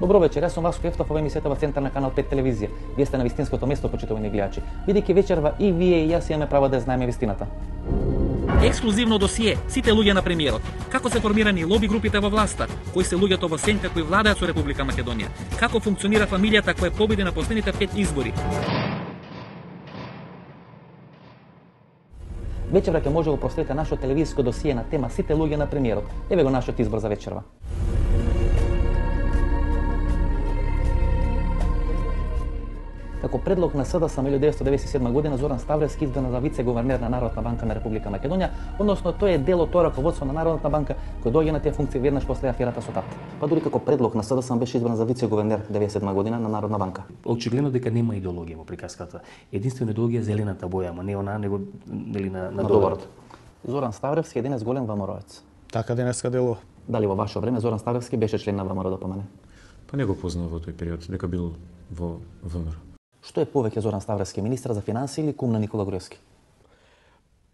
Добро вечер, јас сум Васко Ефтов, ова емисијата во Центар на Канал 5 телевизија. Вие сте на вистинското место, почитувани гледачи. Бидејќи вечерва и вие и јас имаме право да знаеме вистината. Ексклузивно досие, сите луѓе на премиерот. Како се формирани лоби групите во власта, кои се луѓето во сенка кои владеат со Република Македонија, како функционира фамилијата која победи на последните 5 избори. Вечерва ќе може да го проследите нашето телевизиско досие на тема сите луѓе на премиерот. Еве го нашиот избор за вечерва. Како предлог на СДСМ 1997 година Зоран Ставревски избран за вице-гувернер на Народна банка на Република Македонија, односно тој е дел од тоа раководство на Народната банка кој доаѓа на тие функции веднаш после аферата со ТАТ. Па дури како предлог на СДСМ беше избран за вице-гувернер 1997 година на Народна банка. Очигледно дека нема идеологија во приказката. Единствено идеологија е зелената боја, ама не она него нели на доларот. Зоран Ставревски е денес голем ВМРО-ец. Така денеска делува. Дали во ваше време Зоран Ставревски беше член на ВМРО ДПМН? Па не го познав во тој период, дека бил во ВМРО. Што е повеќе Зоран Ставревски, министар за финансии или кум на Никола Груевски?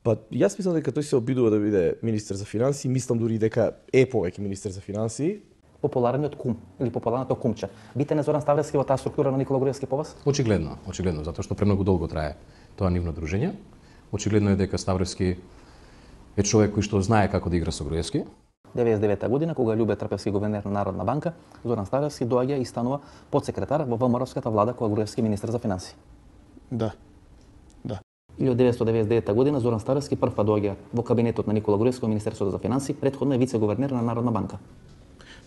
Па јас мислам дека тој се обидува да биде министер за финансии, мислам дури дека е повеќе министер за финансии. Популарниот кум или популарното кумче. Битен е Зоран Ставревски во таа структура на Никола Груевски по вас? Очигледно, затоа што премногу долго трае тоа нивно дружење. Очигледно е дека Ставревски е човек кој што знае како да игра со Груевски. 99 година, кога Љубе Трпевски гувернер на Народна банка, Зоран Ставревски доаѓа и станува подсекретар во ВМРО-ската влада кога Груевски министер за финансии. Да. 1999 година Зоран Ставревски прв доаѓа во кабинетот на Никола Груевски во Министерството за финансии, претходно е вице-гувернер на Народна банка.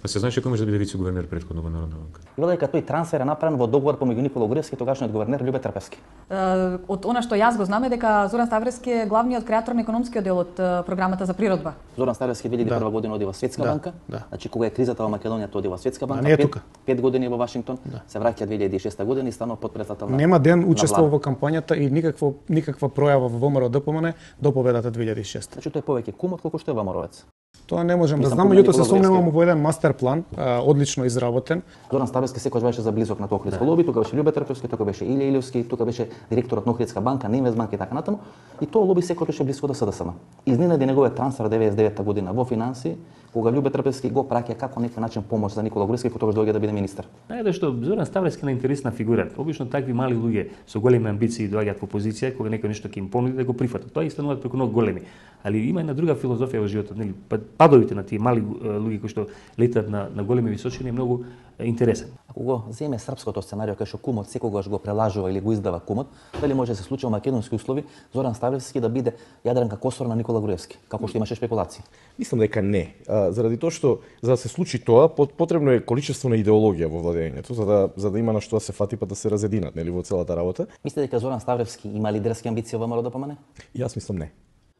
Па се знаеше кој може да биде вице-гувернер претходно во Народна банка. И дека тој трансфер е направен во договор помеѓу Никола Груевски и тогашниот гувернер Љубе Трпевски. Од она што јас го знам е дека Зоран Ставревски е главниот креатор на економскиот дел од програмата за природба. Зоран Ставревски 2001 година оди во Светска банка. Значи кога е кризата во Македонија тој оди во Светска банка. 5 години во Вашингтон. Се враќа 2006 година и станува потпредседател на. Нема ден учествува во кампањата и никаква пројава во ВМРО ДПМН до победата 2006. Значи тој е повеќе кум отколку што е ВМРО-ец. Тоа не можам да знам, меѓутоа се сомневам во еден мастер план, одлично изработен. Зоран Ставревски секогаш беше заблизок на Охридско лоби, тука беше Љубе Трпевски, тука беше Илија Илиевски, тука беше директорот на Охридска банка, на Инвестбанк и така натаму. И тоа лоби секогаш беше близко до СДСМ. Изненади неговиот трансфер 99 година во финансии, кога Љубе Трпевски го праќа како некој начин помош за Никола Груевски, кој тогаш доаѓа да биде министер. Најде што Зоран Ставревски е интересна фигура. Обично такви мали луѓе со големи амбиции доаѓаат во позиција кога некој нешто ќе им понуди да го прифатат. Тоа и стануваат преку многу големи. Али има една друга филозофија во животот, нели? Падовите на тие мали луѓе кои што летат на големи височини е многу интересен. Ако го земе српското сценарио кај што кумот секогаш го прелажува или го издава кумот, дали може да се случи во македонски услови Зоран Ставревски да биде Јадранка Косор на Никола Груевски, како што имаше спекулации? Мислам дека не. Заради тоа што за да се случи тоа потребно е количество на идеологија во владењето, за да има на што да се фати па да се разединат, нели, во целата работа. Мислите дека Зоран Ставревски има лидерски амбиции во ВМРО ДПМН? Јас мислам не.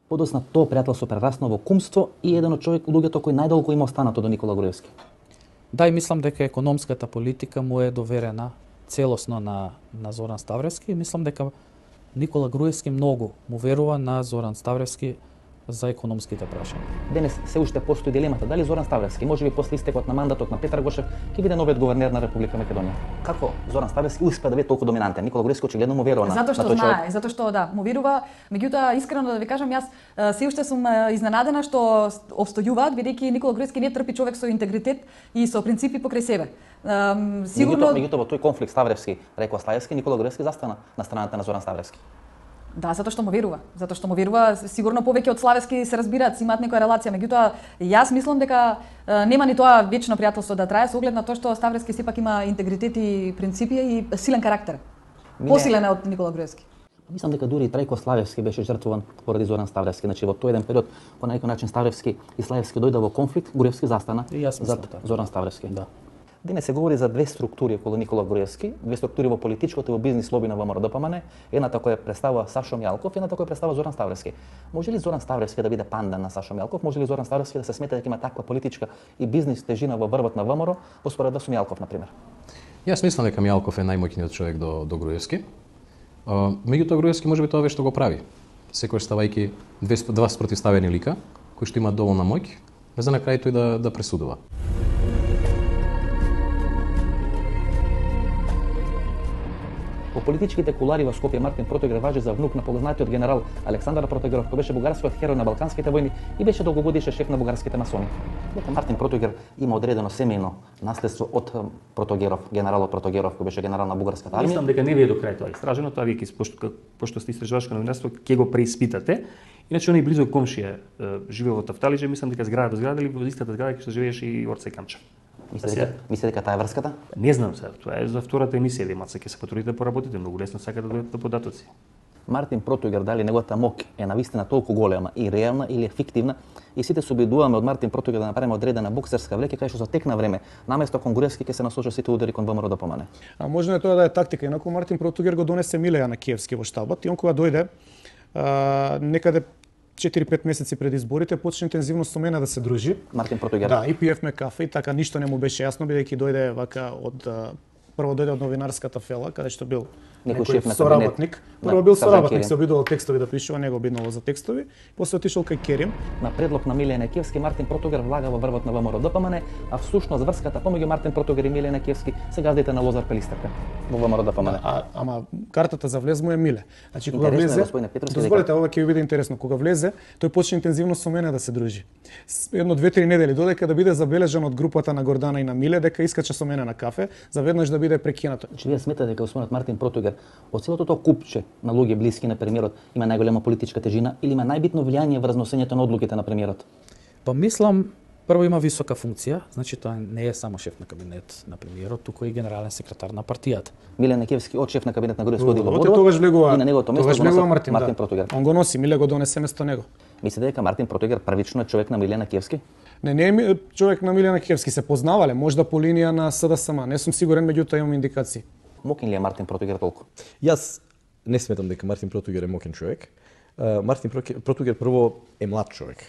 Подосна тоа пријателство прерасна во кумство и еден од луѓето кој најдолго има останато до Никола Груевски. Да, и мислам дека економската политика му е доверена целосно на Зоран Ставревски и мислам дека Никола Груевски многу му верува на Зоран Ставревски за економските прашања. Денес се уште постои дилемата дали Зоран Ставревски можеби после истекот на мандатот на Петар Гошев ќе биде новиот гувернер на Република Македонија. Како Зоран Ставревски успеа да биде толку доминантен? Никола Груевски очигледно му верува на Затоа што знае, затоа што да, му верува, меѓутоа искрено да ви кажам јас се уште сум изненадена што обстојуваат бидејќи Никола Груевски не трпи човек со интегритет и со принципи покрај себе. Сигурно меѓутоа во тој конфликт Ставревски рекоа Слаевски, Никола Груевски застана на страната на Зоран Ставревски. Да, затоа што му верува, сигурно повеќе од Славевски се разбираат, имаат некоја релација, меѓутоа јас мислам дека нема ни тоа вечно пријателство да трае со оглед на тоа што Ставревски сепак има интегритет и принципи и силен карактер. Посилен од Никола Груевски. Мислам дека дури и Трајко Славевски беше жртвуван поради Зоран Ставревски. Значи во тој еден период по некој начин Ставревски и Слаевски дојде во конфликт, Груевски застана зад Зоран Ставревски. Да. Денес се говори за две структури околу Никола Груевски, две структури во политичкото и во бизнис лоби на ВМРО ДПМН, едната која представува Сашо Мјалков, едната која представува Зоран Ставревски. Може ли Зоран Ставревски да биде панда на Сашо Мјалков? Може ли Зоран Ставревски да се смета дека има таква политичка и бизнис тежина во врвот на ВМРО, успоредно со Мјалков на пример? Јас мислам дека Мјалков е најмоќниот човек до Груевски. Меѓутоа Груевски можеби тоа што го прави. Секојаш ставајќи два спротивставени лика кои што имаат доволна моќ, за на крај тој да пресудува. Во политичките кулари во Скопје Мартин Протогер важи за внук на познатиот генерал Александар Протогеров, кој беше бугарскиот херој на Балканските војни и беше долгогодишен шеф на бугарските масони. Дека Мартин Протогер има одредено семејно наследство од Протогеров, генералот Протогеров, кој беше генерал на бугарската армија. Мислам дека не ви е до крај тоа истражено, тоа вие пошто сте истражувачко новинарство, ќе го преиспитате. Иначе оној близо комшија живее во Тафталиџе, мислам дека зграда до зграда или во истата зграда што живееше и Орце Камчев. Мислите дека таа е врската? Не знам сега, тоа е за втората емисија, ви маца ќе се потрудите да поработите, многу лесно сакате да дојдете податоци. Мартин Протогер, дали неговата моќ е навистина толку голема и реална или е фиктивна, и сите се обидуваме од Мартин Протогер да направиме одредена боксерска влека, кај што за тек на време, наместо кон Груевски ќе се насочат сите удари кон ВМРО-ДПМН. А можно е тоа да е тактика, инаку Мартин Протогер го донесе Милеја на Киевски во штабот и он кога дојде некаде 4-5 месеци пред изборите почна интензивно со мене да се дружи. Мартин Протогер. Да, и пиевме кафе и така ништо не му беше јасно бидејќи дојде вака од прво дојде од новинарската фела, каде што бил некој соработник. Прво бил соработник, се обидувал текстови да пишува, него обиднало за текстови, после отишол кај Керим. На предлог на Милеј Некевски, Мартин Протогер влага во врвот на ВМРО-ДПМН, а всушност врската помеѓу Мартин Протогер и Милеј Некевски се газдите на Лозар Пелистерка во ВМРО-ДПМН. Ама картата за влез му е Миле. Значи кога влезе, дозволете, ова ќе ви биде интересно, кога влезе, тој почна интензивно со мене да се дружи. Едно 2-3 недели додека да биде забележан од групата на Гордана и на Миле дека искача со мене на кафе, заведнаш да биде прекинато. Значи вие сметате дека господинот Мартин Протогер од целото тоа купче на луѓе блиски на премиерот има најголема политичка тежина или има најбитно влијание врз носењето на одлуките на премиерот? Па мислам, прво има висока функција, значи тоа не е само шеф на кабинет на премиерот, туку и генерален секретар на партијата. Миле Некевски од шеф на кабинет на Груевски оди во Бордо. Тогаш влегува, и на неговото место го носи Мартин Протогер. Он го носи, Миле го донесе место него. Мислите дека Мартин Протогер првично е човек на Миле Некевски? Не е човек на Миле Некевски, се познавале, можда по линија на СДСМ, не сум сигурен, меѓутоа имам индикации. Мокен ли е Мартин Протогер толку? Јас не сметам дека Мартин Протогер е мокен човек. Мартин Протогер прво е млад човек.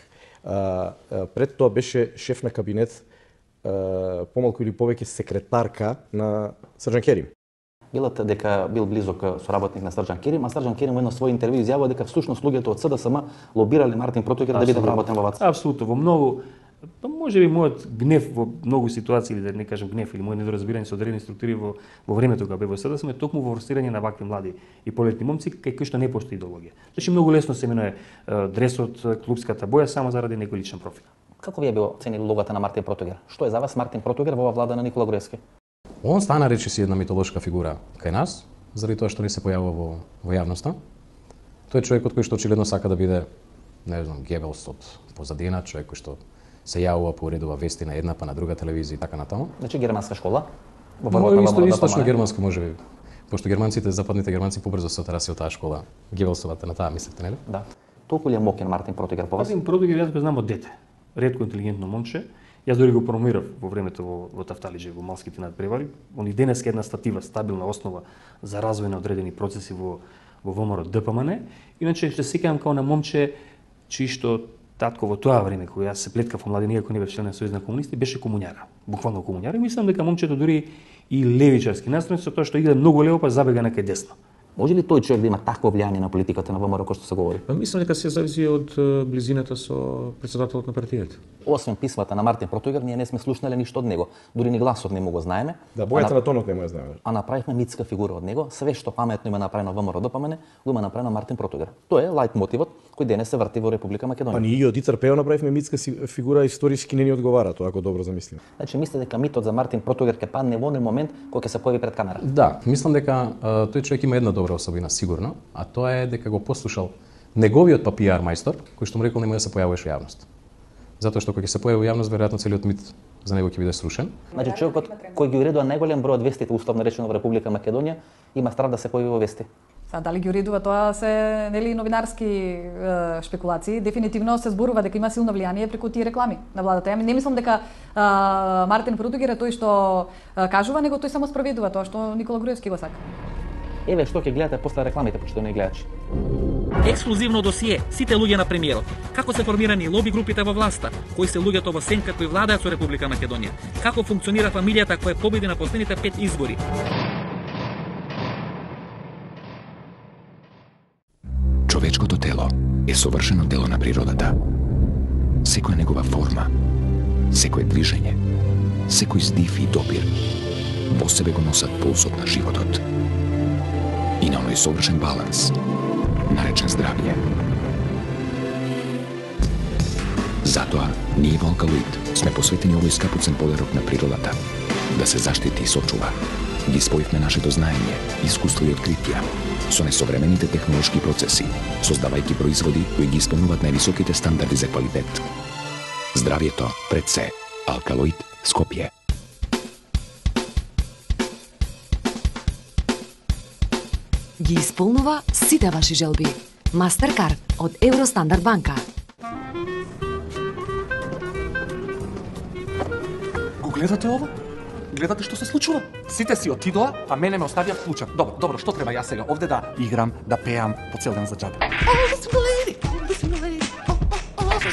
Пред тоа беше шеф на кабинет, помалку или повеќе секретарка на Срđan Керим. Билат дека бил близок соработник на Срđan Керим, а Срđan Керим во едно свој интервју изјавува дека всушност луѓето од СДСМ лобирале Мартин Протогер да биде вработен во ВАЦ. Апсолутно, во многу може би мојот гнев во многу ситуации, или да не кажам гнев, или мој недоразбирање со одредени структури во времето кога бев во СДСМ е токму во форсирање на вакви млади и полетни момци кај кои што не постои идеологија. Значи многу лесно се менува дресот, клубската боја само заради некој личен профил. Како вие би оценили улогата на Мартин Протогер? Што е за вас Мартин Протогер во ова влада на Никола Груевски? Он стана речиси една митолошка фигура кај нас, заради тоа што не се појавува во јавноста. Тој е човекот кој што очигледно сака да биде, не знам, Гебелс од позадина, човек кој што се јавува по уредува вести на една па на друга телевизија и така натаму. Значи германска школа? Источно германска можеби. Пошто германците, западните германци побрзо се отраси од таа школа. Гебелсовата на таа мислите, нели? Да. Толку ли е мокен Мартин Протогер по вас? Мартин Протогер јас го знам од дете. Ретко интелигентно момче. Јас дори го промовирав во времето во Тафталиџе, во Малските надпревари. Он и денеска една статива, стабилна основа за развој на одредени процеси во ВМРО-ДПМН. Иначе се сеќавам како на момче чии што татко во тоа време кога јас се плеткав во младина, иако не бев член на Сојуз на комунисти, беше комуњара. Буквално комуњара. И мислам дека момчето дури и левичарски настроен со тоа што иде многу лево па забега некај десно. Може ли тој човек да има такво влијание на политиката на ВМРО кој што се говори? Мислам дека се зависи од близината со претседателот на партијата. Освен писмата на Мартин Протогер, ние не сме слушнале ништо од него. Дури ни гласот не му го знаеме. Да, бојата на тонот не му ја знаеме. А направивме митска фигура од него. Све што паметно има направено ВМРО-ДПМН, го има направено Мартин Протогер. Тоа е лајт мотивот кој денес се врти во Република Македонија. Па ние од ИЦРП направивме митска фигура, историски не ни одговара тоа, ако добро замислиме. Значи мислите дека митот за Мартин Протогер ќе падне во оној момент кога ќе се појави пред камера? Да, мислам дека тој човек има една добра особина сигурно, а тоа е дека го послушал неговиот папиар мајстор, кој што му рекол нема да се појавуваш во јавност. Затоа што кога ќе се појави во јавност, веројатно целиот мит за него ќе биде срушен. Значи човекот кој ги уредува најголем број од вестите условно речено во Република Македонија има страв да се појави во вести. Дали ги уредува тоа се нели новинарски шпекулации, дефинитивно се зборува дека има силно влијание преку тие реклами на владата. Ја не мислам дека Мартин Протогер е тој што кажува, него тој само спроведува тоа што Никола Груевски го сака. Еве што ќе гледате после рекламите, почитувани гледачи. Ексклузивно досие, сите луѓе на премиерот. Како се формирани лоби групите во власта, кои се луѓето во сенка кои владеат со Република Македонија. Како функционира фамилијата која победи на последните 5 избори. Човечкото тело е совршено дело на природата. Секоја негова форма, секое движење, секој здив и допир во себе го носат пулсот на животот. тој совршен баланс, наречен здравје. Затоа, ние во Алкалоид сме посветени овој скапоцен подарок на природата, да се заштити и сочува. Ги споивме нашето знаење, искуство и откритија со несовремените технолошки процеси, создавајќи производи кои ги исполнуваат највисоките стандарди за квалитет. Здравјето пред се. Алкалоид Скопје. Ги исполнува сите ваши желби. Мастеркард од Евростандард банка. Го гледате ово? Гледате што се случува? Сите си отидоа, а мене ме оставија вклучен. Добро, што треба јас сега овде да играм, да пеам по цел ден за џабе?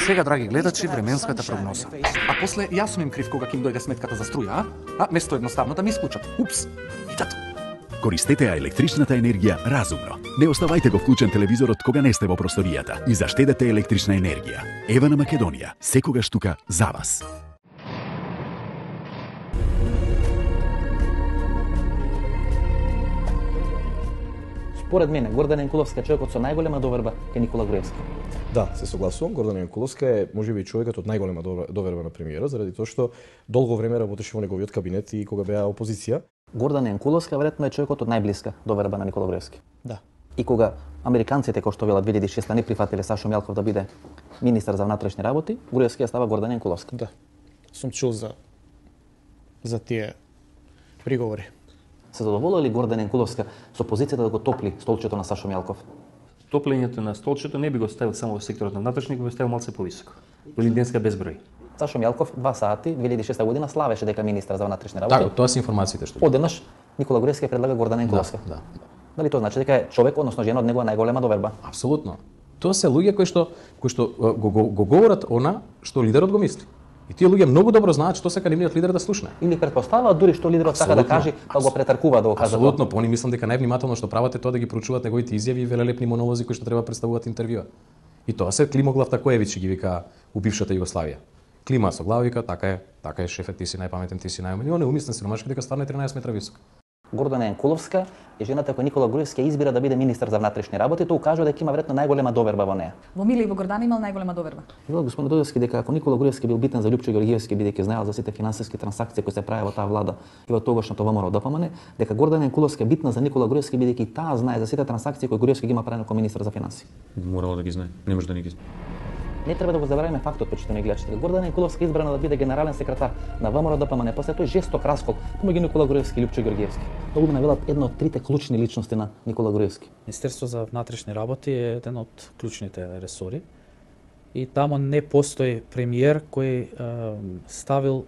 Сега, драги гледачи, временската прогноза. А после јас сум им крив кога ќе им дојде сметката за струја, а место едноставно да ми исклучат. Упс, и тато. Користете ја електричната енергија разумно. Не оставајте го вклучен телевизорот кога не сте во просторијата и заштедете електрична енергија. Ева на Македонија, секогаш тука за вас. Според мене, Гордана Јанкуловска е човекот со најголема доверба кај Никола Груевски. Да, се согласувам. Гордана Јанкуловска е можеби човекот од најголема доверба на премиерот, заради тоа што долго време работеше во неговиот кабинет и кога беа опозиција. Гордана Јанкуловска веројатно е човекот од најблиска доверба на Никола Груевски. Да. И кога американците, кои што велат 2006 не прифатиле Сашо Мјалков да биде министер за внатрешни работи, Груевски ја става Гордана Јанкуловска. Да. Сум чул за тие приговори. Се задоволува ли Гордана Јанкуловска со позицијата да го топли столчето на Сашо Мјалков? Топлењето на столчето не би го ставил само во секторот на внатрешни, го ставил малце повисоко. Денска безброј. Сашо Мјалков 2 сати 2006 година славеше дека министер за внатрешни работи. Да, тоа се информациите што. Одеднаш Никола Груевски предлага Гордана Јанкуловска. Да. Дали тоа значи дека е човек, односно жена од негова најголема доверба? Апсолутно. Тоа се луѓе кои што го говорат она што лидерот го мисли. И тие луѓе многу добро знаат што сака нивниот лидер да слушне. Или претпоставаат дури што лидерот сака да каже, па го претаркува да го каже. Апсолутно, они мислам дека највнимателно што прават е тоа да ги проучуваат неговите изјави и велелепни монолози кои што треба представуваат интервјуа. И тоа се Климоглав Такоевич ги вика у бившата Југославија. Клима со глава вика, така е шефе, ти си најпаметен, ти си најумен. И он е умислен сиромашки дека стварно е 13 метра висок. Гордана Јанкуловска е жената која Никола Груевски избира да биде министер за внатрешни работи, тоа укажува дека има веројатно најголема доверба во неа. Во Миле и во Гордана имал најголема доверба. Велат господин Дојевски дека ако Никола Груевски бил битен за Лјупчо Ѓорѓиевски бидејќи знаел за сите финансиски трансакции кои се правеа во таа влада и во тогашното ВМРО ДПМН, дека Гордана Јанкуловска е битна за Никола Груевски бидејќи таа знае за сите трансакции кои Груевски ги има правено како министер за финансии. Морало да ги знае, не може да не ги знае. Не треба да го забравиме фактот, почитувани гледачи, дека Гордана Јанкуловска избрана да биде генерален секретар на ВМРО ДПМН после тој жесток раскол помеѓу Никола Груевски и Лјупчо Ѓорѓиевски. Тоа го навелат една од трите клучни личности на Никола Груевски. Министерство за внатрешни работи е еден од клучните ресори и тамо не постои премиер кој ставил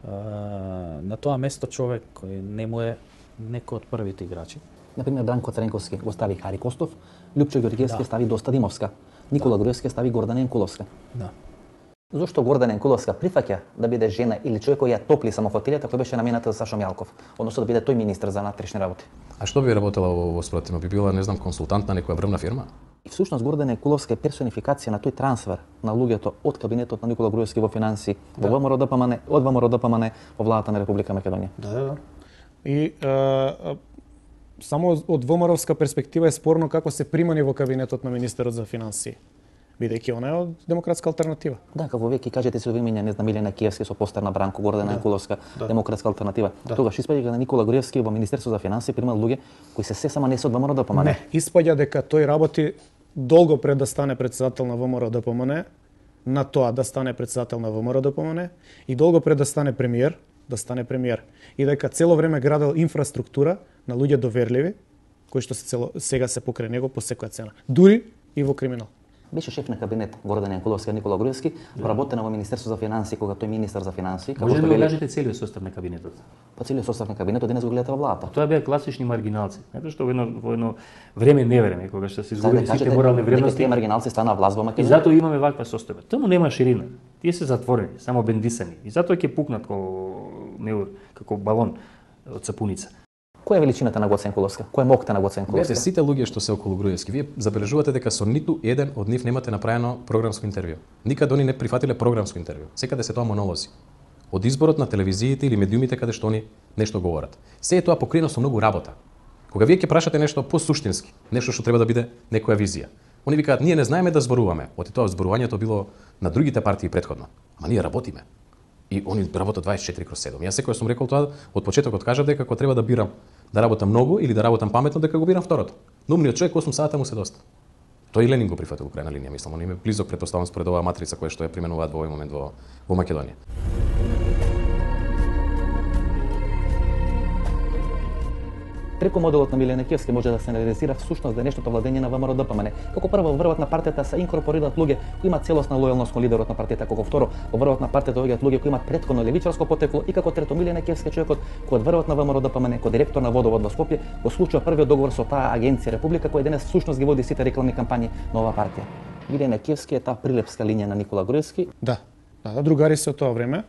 на тоа место човек кој не му е некој од првите играчи. Например, Бранко Цренковски го стави Хари Костов, Лјупчо Ѓорѓиевски стави Доста Димовска. Никола Груевски стави Гордана Јанкуловска. Да. Зошто Гордана Јанкуловска прифаќа да биде жена или човек кој ја топли само фотилјата кој беше намената за Сашо Мјалков, односно да биде тој министер за внатрешни работи? А што би работела во спротивно? Би била, не знам, консултант на некоја врвна фирма? И всушност Гордана Јанкуловска е персонификација на тој трансфер на луѓето од кабинетот на Никола Груевски во финансии, во ВМРО ДПМН, од ВМРО ДПМН во владата на Република Македонија. Да. И само од ВМРО-вска перспектива е спорно како се примани во кабинетот на министерот за финансии, бидејќи она е од демократска алтернатива. Да, како веќе кажете се вимиња, не знам, Милена Киевски со постер на Бранко, Гордана Јанкуловска, демократска алтернатива. Тогаш испаѓа на Никола Груевски во Министерство за финансии примал луѓе кои се само не се од ВМРО ДПМН. Не, испаѓа дека тој работи долго пред да стане председател на ВМРО ДПМН, на тоа да стане председател на ВМРО ДПМН и долго пред да стане премиер, и дека цело време градел инфраструктура на луѓе доверливи кои што сега се покрај него по секоја цена, дури и во криминал. Беше шеф на кабинет Гордана Јанкуловска и Никола Груевски, вработена во Министерство за финансии кога тој министер за финансии. Може да го кажете целиот состав на кабинетот? Па целиот состав на кабинетот денес го гледате во владата. Тоа беа класични маргиналци. Знаете што во едно време невреме кога што се изгубени сите морални вредности. Тие маргиналци станаа власт во Македонија. И затоа имаме ваква состојба. Таму нема ширина. Тие се затворени, само бендисани. И затоа ќе пукнат како балон од сапуница. Која е величината на Гоце Јанкуловска? Кој е моќта на Гоце Јанкуловска? Гледате, сите луѓе што се околу Груевски, вие забележувате дека со ниту еден од нив немате направено програмско интервју. Никаде они не прифатиле програмско интервју. Секаде се тоа монолози. Од изборот на телевизиите или медиумите каде што они нешто говорат. Се е тоа покриено со многу работа. Кога вие ќе прашате нешто посуштински, нешто што треба да биде некоја визија, они викаат ние не знаеме да зборуваме. Оти тоа зборувањето било на другите партии претходно. Ама ние работиме. И они работат 24/7. Јас секој сум рекол тоа од почетокот, кажав дека кога треба да бирам да работам многу или да работам паметно, дека го бирам второто. Но умниот човек 8 сата му се доста. Тој и Ленин го прифатил крај на линија, мислам, он им е близок претпоставам според оваа матрица која што ја применуваат во овој момент во Македонија. Преку моделот на Миле Некевски може да се реализира всушност денешното владење на ВМРО-ДПМН. Како прво, во врвот на партијата се инкорпорираат луѓе кои имаат целосна лојалност кон лидерот на партијата, како второ, во врвот на партијата доаѓаат луѓе кои имаат претходно левичарско потекло и како трето Миле Некевски човекот кој од врвот на ВМРО-ДПМН, кој директор на водовод во Скопје, го склучува првиот договор со таа агенција Република која денес всушност ги води сите рекламни кампањи на оваа партија. Миле Некевски е таа прилепска линија на Никола Груевски. Да, другари се од тоа време.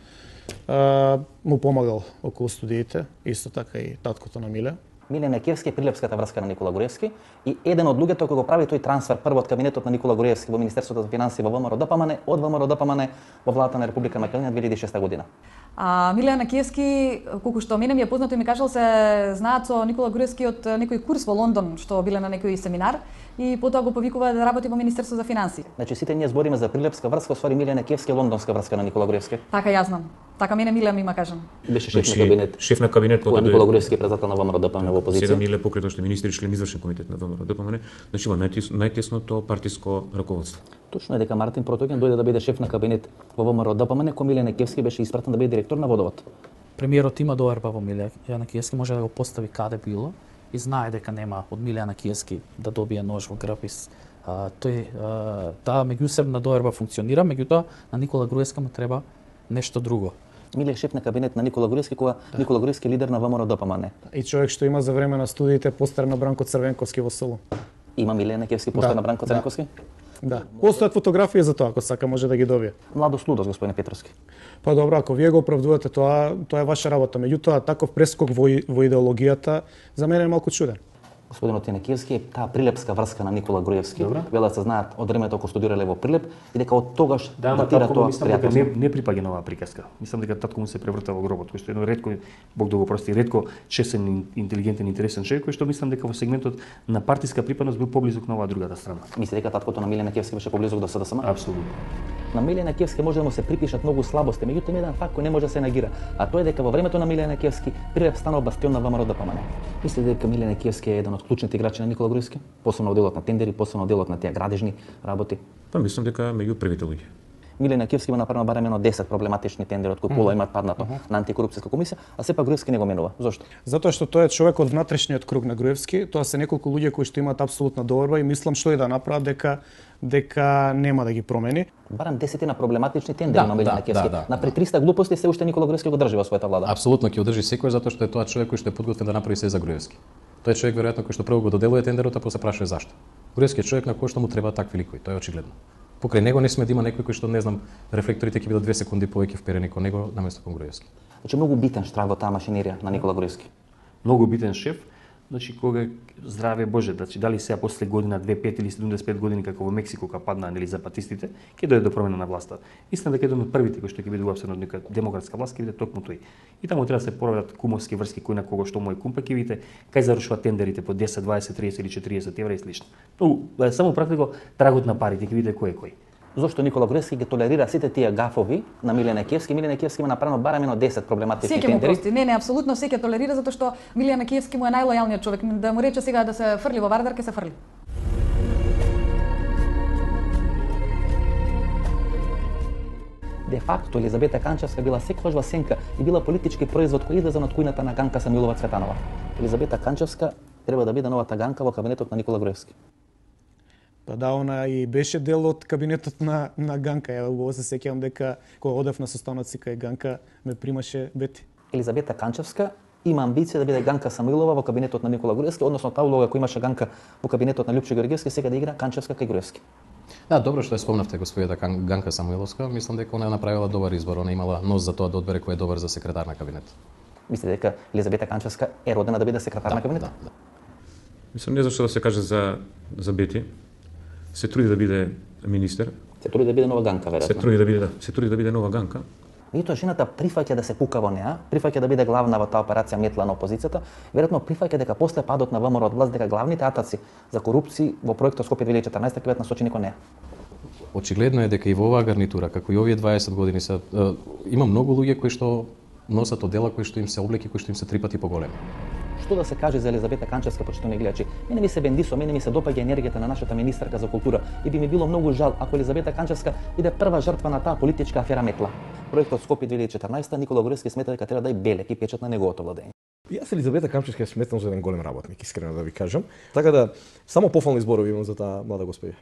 Му помагал околу студиите, исто така и таткото на Миле. Миле Некевски е прилепската врска на Никола Груевски и еден од луѓето кои го прави тој трансфер прво од кабинетот на Никола Груевски во Министерството за финансии во ВМРО-ДПМН, од ВМРО-ДПМН во владата на Република Македонија 2006 година. Миле Некевски, колку што мене ми е познато и ми кажал, се знаат со Никола Груевски од некој курс во Лондон, што биле на некој семинар и потоа го повикува да работи во Министерството за финансии. Значи сите ние збориме за прилепска врска, освари Миле Некевски е лондонска врска на Никола Груевски. Така јас знам. Така мене Миле ми има кажан. Беше шеф на кабинет. Шеф на кабинет кога Никола Груевски е председател на ВМРО-ДПМН во опозиција. 7 Миле покрај тоа што министри член извршен комитет на ВМРО-ДПМН, значи во најтесното партиско раководство. Точно е дека Мартин Протоген дојде да биде шеф на кабинет во ВМРО-ДПМН, кој Миле Некевски беше испратен да биде директор на водовод. Премиерот има доверба во Миле Некевски, може да го постави каде било и знае дека нема од Миле Некевски да добие нож во грб. Таа меѓусебна доверба функционира, меѓутоа на Никола Груевски му треба нешто друго. Миле е шеф на кабинет на Никола Груевски, кога Никола Груевски е лидер на ВМРО-ДПМН. И човек што има за време на студиите постер на Бранко Црвенковски во Солун. Има Миле Некевски постер на Бранко Црвенковски? Да. Постојат фотографии за тоа, ако сака може да ги добие. Младост лудост, господине Петровски. Па добро, ако вие го оправдувате тоа е ваша работа. Меѓутоа, таков прескок во идеологијата за мене е малку чуден. Господинот Некевски е таа прилепска врска на Никола Груевски. Велат се знаат од времето кога студирале во Прилеп и дека од тогаш датира тоа пријателство. Не припаѓа на оваа приказка. Мислам дека татко му се преврта во гробот, кој што едно ретко, Бог да го прости, ретко чесен, интелигентен, интересен човек, кој што мислам дека во сегментот на партиска припадност бил поблизок на оваа другата страна. Мислите дека таткото на Миле Некевски беше поблизок до СДСМ? Апсолутно. На Миле Некевски може да му се припишат многу слабости, меѓутоа има еден факт кој не може да се негира, а тоа е дека во времето на Миле Некевски Прилеп станал бастион на ВМРО-ДПМН. Мислите дека Миле Некевски е еден од клучните играчи на Никола Груевски, посебно во делот на тендери, посебно во делот на тие градежни работи? Па мислам дека меѓу првите луѓе. Миле Некевски има направено барем едно 10 проблематични тендери од кои пола имаат паднато на антикорупцијска комисија, а сепак Груевски не го менува. Зошто? Затоа што тој е човек од внатрешниот круг на Груевски, тоа се неколку луѓе кои што имаат апсолутна доверба и мислам што и да направат дека нема да ги промени. Барем 10 на проблематични тендери на Миле Некевски. На пред 300 глупости се уште Никола Груевски го држи во својата влада. Апсолутно ќе одржи секој затоа што е тоа човек кој што е подготвен да направи се за Груевски. Тој е човек веројатно кој што прво го доделува тендерот, а после прашува зашто. Груевски е човек на кој што му треба такви ликови, тоа е очигледно. Покрај него не сме да има некој кој што не знам, рефлекторите ќе бидат 2 секунди повеќе вперени кон него наместо кон Груевски. Значи многу битен штрак во таа машинерија на Никола Груевски. Многу битен шеф. Значи кога здраве Боже, значи дали сега после година 2, 5 или 75 години како во Мексико кога падна нели запатистите, ќе дојде до промена на власта. Истина дека еден од првите кои што ќе биде уапсен од нека демократска власт ќе биде токму тој. И таму треба да се порават кумовски врски кој на кого што му е кум, па ќе видите кај завршуваат тендерите по 10, 20, 30 или 40 евра и слично. Тоа само практико трагот на парите, ќе видите кој е кој. Зошто Никола Груевски ги толерира сите тие гафови на Миле Некевски? Миле Некевски има направено барем едно 10 проблематични тендери. Секој му прости. Не, апсолутно секој толерира затоа што Миле Некевски му е најлојалниот човек. Да му рече сега да се фрли во Вардар, ќе се фрли. Де факто Елизабета Канчевска била секогаш во сенка и била политички производ кој излезе од кујната на Ганка Самилова Цветанова. Елизабета Канчевска треба да биде новата Ганка во кабинетот на Никола Груевски. Па да, она и беше дел од кабинетот на Ганка. Ја убаво се сеќавам дека кога одев на состаноци кај Ганка ме примаше Бети. Елизабета Канчевска има амбиција да биде Ганка Самуилова во кабинетот на Никола Груевски, односно таа улога која имаше Ганка во кабинетот на Љупчо Георгиевски, сега да игра Канчевска кај Груевски. Да, добро што ја спомнавте господјата Ганка Самуиловска. Мислам дека она направила добар избор, она имала нос за тоа да одбере кој е добар за секретар на кабинет. Мислите дека Елизабета Канчевска е родена да биде секретар на кабинет? Да. Мислам не зашто да се каже за Бети. Се труди да биде министер. Се труди да биде нова Ганка, веројатно. Се труди да биде нова Ганка. Меѓутоа жената прифаќа да се кука во неа, прифаќа да биде главна во таа операција метла на опозицијата, веројатно прифаќа дека после падот на ВМРО од власт дека главните атаци за корупција во проектот Скопје 2014 ќе бидат насочени кон неа. Очигледно е дека и во оваа гарнитура, како и овие 20 години има многу луѓе кои што носат одела кои што им се облеки, кои што им се 3 пати поголеми. Што да се каже за Елизабета Канчевска, почитувани гледачи? Мене ми се бендисо, мене ми се допаѓа енергијата на нашата министерка за култура и би ми било многу жал ако Елизабета Канчевска биде прва жртва на таа политичка афера метла. Проектот Скопје 2014 Никола Груевски смета дека треба да е белек и печат на неговото владење. Јас Елизабета Канчевска ја сметам за еден голем работник, искрено да ви кажам. Така да само пофални зборови имам за таа млада господја.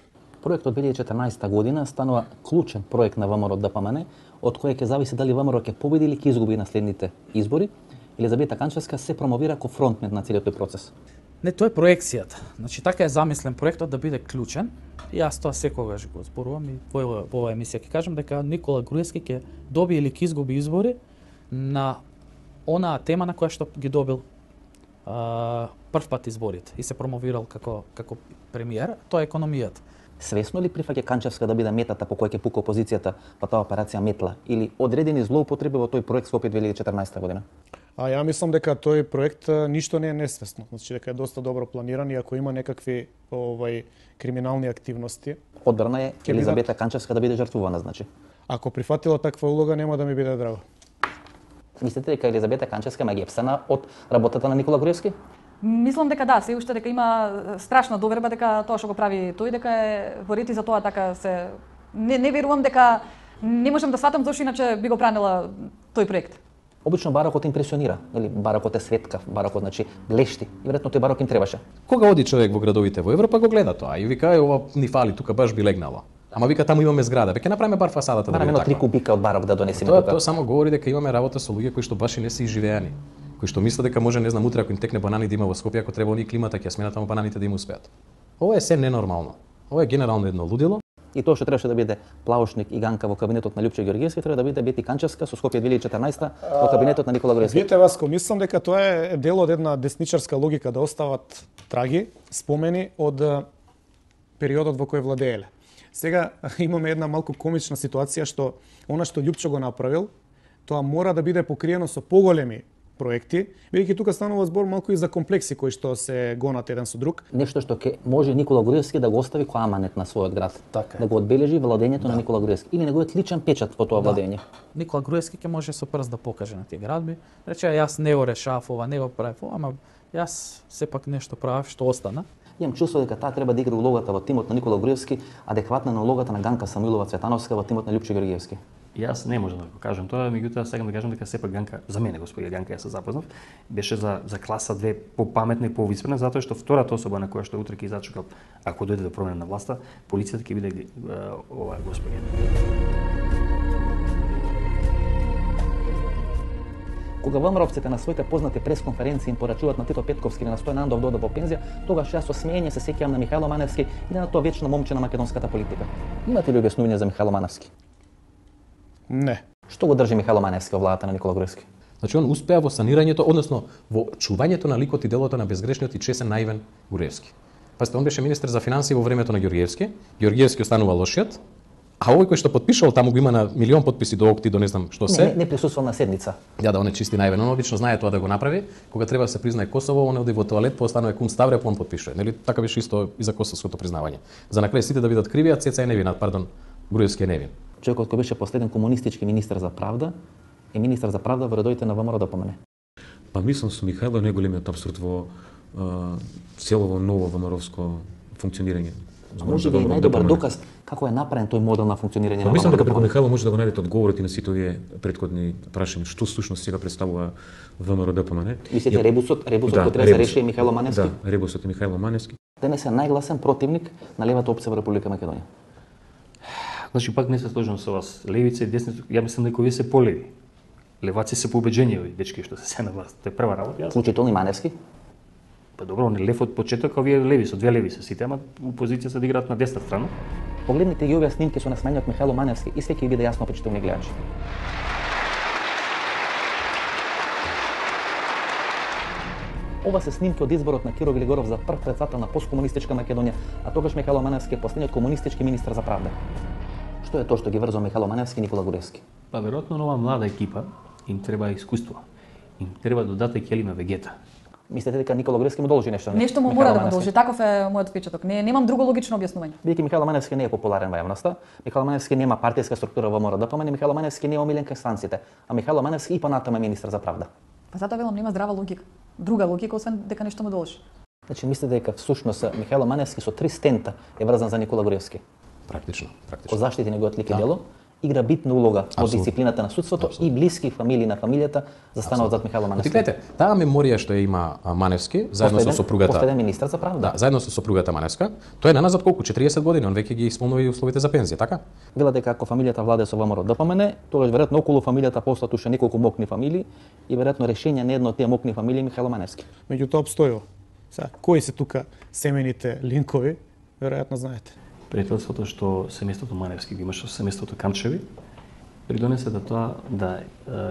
Проектот 2014 година станува клучен проект на ВМРО ДПМН, од кој ќе зависи дали ВМРО ќе победи или ќе изгуби на следните избори. Елизабета Канчевска се промовира како фронтмен на целиот тој процес. Не, тоа е проекцијата. Значи така е замислен проектот да биде клучен. И јас тоа секогаш го зборувам и во оваа емисија ќе кажам дека Никола Груевски ќе добие или ќе изгуби избори на онаа тема на која што ги добил прв пат изборите и се промовирал како премиер, тоа е економијата. Свесно ли прифаќа Канчевска да биде метата по која ќе пука опозицијата по таа операција метла или одредени злоупотреби во тој проект Скопје 2014 година? Ја мислам дека тој проект ништо не е несвесно, значи дека е доста добро планиран и ако има некакви криминални активности. Одбрана е Елизабета Канчевска да биде жртвувана, значи. Ако прифатила таква улога нема да ми биде драго. Мислите дека Елизабета Канчевска ме гепсана од работата на Никола Груевски? Мислам дека да, се уште дека има страшна доверба дека тоа што го прави тој дека е во ред и за тоа така се не верувам дека не можам да сватам зошто иначе би го бранила тој проект. Обично барокот импресионира, нели? Барокот е светкав, барокот значи блешти. И веројатно тој барок им требаше. Кога оди човек во градовите во Европа го гледа тоа и вика ова ни фали, тука баш би легнало. Ама вика таму имаме зграда, ќе направиме бар фасадата да биде така. 3 кубика од барок да донесеме тука. Тоа само говори дека имаме работа со луѓе кои што баш и не се изживеани, кои што мислат дека може не знам утре ако им текне банани да има во Скопје, ако треба они климата ќе сменат таму бананите да им успеат. Ова е се ненормално. Ова е генерално едно лудило. И тоа што требаше да биде Плаушник и Ганка во кабинетот на Љупче Ѓорѓевски треба да биде Бети Канчевска со Скопје 2014 во кабинетот на Никола Груевски. Видете, Васко, мислам дека тоа е дел од една десничарска логика да остават траги, спомени од периодот во кој владееле. Сега имаме една малку комична ситуација што она што Љупчо го направил, тоа мора да биде покриено со поголеми проекти, бидејќи тука станува збор малку и за комплекси кои што се гонат еден со друг. Нешто што ќе може Никола Груевски да го остави кој аманет на својот град, така да го одбележи владењето на Никола Груевски или неговиот личен печат во тоа владење. Никола Груевски ќе може со прст да покаже на тие градби, рече јас не го решав ова, не го правев ова, ама јас сепак нешто правев што остана. Имам чувство дека таа треба да игра улогата во тимот на Никола Груевски, адекватна на улогата на Ганка Самуилова Цветановска во тимот на Љупче Ѓорѓевски. Јас не можам да го кажам тоа, меѓутоа сакам да кажам дека сепак Ганка, за мене господја Ганка, јас се запознав, беше за класа 2 попаметна и повиспрена, затоа што втората особа на која што утре ќе зачекал, ако дојде до промена на власта, полицијата ќе биде оваа господја. Кога ВМРО-вците на своите познати пресконференции им порачуваат на Тито Петковски или на Стојан Андов да одат во пензија, тогаш јас со смеење се сеќавам на Михајло Маневски и на тоа вечно момче на македонската политика. Имате ли објаснување за Михајло Маневски? Не. Што го држи Михајло Маневски во владата на Никола Груевски? Значи он успеа во санирањето, односно во чувањето на ликот и делото на безгрешниот и чесен наивен Груевски. Пасте, он беше министер за финансии во времето на Ѓорѓевски. Ѓорѓевски останува лошиот, а овој кој што подпишал таму го има на милион подписи до окти, до не знам што се. Не присуствувал на седница. Да, он е чисти наивен. Он обично знае тоа да го направи. Кога треба да се признае Косово, он оди во тоалет, постанува кун ставре, он подпишува. Нели така беше исто и за косовското признавање. За на крај сите да видат криви, а Цеца е невина, Груевски е невин. Човекот кој беше последен комунистички министер за правда е министер за правда во редовите на ВМРО ДПМН. Па мислам со Михајло најголемиот апсурд во целово ново ВМРО-вско функционирање. Може би е најдобар доказ како е направен тој модел на функционирање на ВМРО. Мислам дека преку Михајло може да го најдете одговорите на сите овие претходни прашања, што всушност сега представува ВМРО ДПМН. Мислите ребусот кој треба да се реши Михајло Маневски? Да, ребусот е Михајло Маневски. Денес е најгласен противник на левата опција во Република Македонија. Значи пак не се сложам со вас. Левица и десница, ја мислам дека овие се полеви. Леваци се по убеđenje овие дечки што се на власт. Тоа е прва работа. Вклучително и Маневски? Па добро, он е лев од почеток, овие леви со две леви се сите, ама опозицијата да играат на десна страна. Погледнете ги овие снимки со насмеаниот Михајло Маневски и све ќе биде јасно, почитувани гледачи. Ова се снимки од изборот на Киро Велигоров за прв председател на посткомунистичка Македонија, а тогаш Михајло Маневски е последниот комунистички министер за правда. Што е тоа што ги врзува Михајло Маневски и Никола Груевски? Па веројатно нова млада екипа им треба искуство. Им треба додаток елима вегета. Мислите дека Никола Груевски му должи нешто? Нешто му мора да му должи. Таков е мојот впечаток. Немам друго логично објаснување. Бидејќи Михаил Маневски не е популарен во јавноста, Михаил Маневски нема партиска структура во МРДПМН, Михаил Маневски не е омилен кај станците, а Михаил Маневски и понатаму е министар за правда. Па затоа велам нема здрава логика. Друга логика освен дека нешто му должи. Значи мислите дека всушност Михаил Маневски со 3 стента е врзан за Никола Груевски? Практично. Од заштити неговиот лик и дело, игра битна улога во дисциплината на судството и блиски фамилии на фамилијата застануваат зад Михаил Маневски. Гледате, таа меморија што има Маневски заедно со сопругата. Последен министар за правда. Да, заедно со сопругата Маневска. Тој е наназад колку 40 години, он веќе ги исполнува и условите за пензија, така? Вела дека ако фамилијата владее со ВМРО-ДПМН, тогаш веројатно околу фамилијата постат уште неколку мокни фамилии и веројатно решение на една од тие мокни фамилии Михаил Маневски. Меѓутоа обстојува. Сега, кои се тука семените линкови, веројатно знаете. Пријателството што семејството Маневски го имаше со семејството Камчеви, придонесе да тоа да